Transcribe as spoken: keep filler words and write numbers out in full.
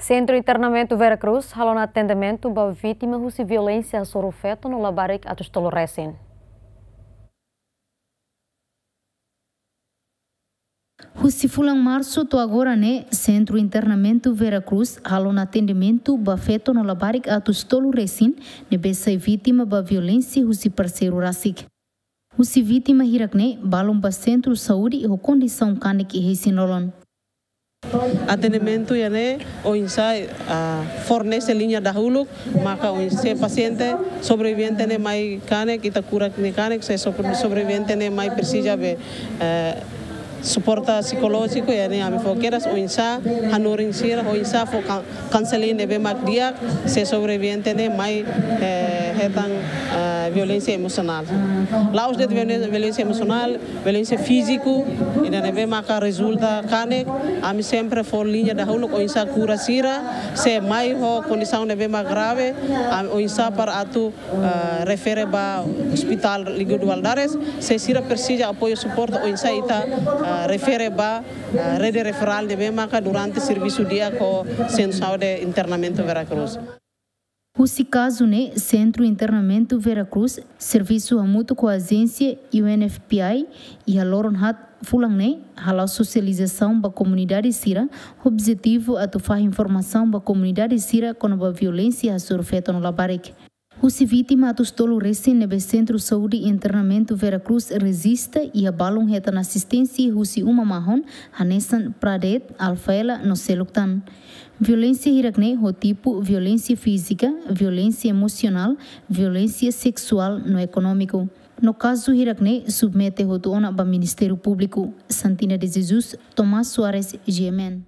Sentru Internamentu Vera Cruz halo ona atendimentu ba vítima husi violénsia hasoru feto no labarik atus tolu resin. Husi fulan Marsu to'o agora ne'e, Sentru Internamentu Vera Cruz halo ona atendimentu ba feto no labarik atus tolu resin ne'ebé sai vítima ba violénsia husi parseiru rasik. Husi vítima hirak ne'e balun ba sentru saúde ho kondisaun kanek iha isin-lolon. Atendimentu iha ne'e oinsá, ah, fornese liña dahuluk, maka oinsá pasiente sobrevivente ne'e mai kanek, ita kura nia kanek, se sobre-, sobrevivente ne'e mai presiza be, eh, suporta psikolójiku, iha ne'e ami fó kedas oinsá hanorin sira, oinsá fó kan-, kaunseling ne'ebé mak di'ak, se sobrevivente ne'e mai, eh, hetan, eh, violénsia emosionál. La'ós de'it violénsia, violénsia emosionál, violénsia fíziku, ida ne'ebé maka rezulta kanek, ami sempre fó liña dahuluk oinsá kura sira, se mai ho kondisaun ne'ebé mak grave, ami oinsá para atu, eh, refere ba Hospital Lígido Valadares, se sira presiza apoiu suporte oinsá ita, eh, refere ba, eh, rede referál ne'ebé maka durante servisu di'ak ho Sentru Saúde Internamentu Vera Cruz. Husi kazu ne'e, Sentru Internamentu Vera Cruz servisu hamutuk ho ajénsia U N F P A iha loron haat fulan ne'e, hala'o sosializasaun ba komunidade sira, objetivu atu fahe informasaun ba komunidade sira kona-ba violénsia hasoru feto no labarik. Husi vítima atus tolu resin ne'ebé Sentru Saúde Internamentu Vera Cruz rejista iha balun hetan asisténsia husi uma mahon, hanesan Pradet, Alfaela no seluk tan. Violénsia hirak ne'e ho tipu violénsia fízika, violénsia emosionál, violénsia seksuál no ekonómiku. No kazu hirak ne'e submete hotu ona ba Ministériu Públiku. Santina de Jesus, Tomás Soares, G M N.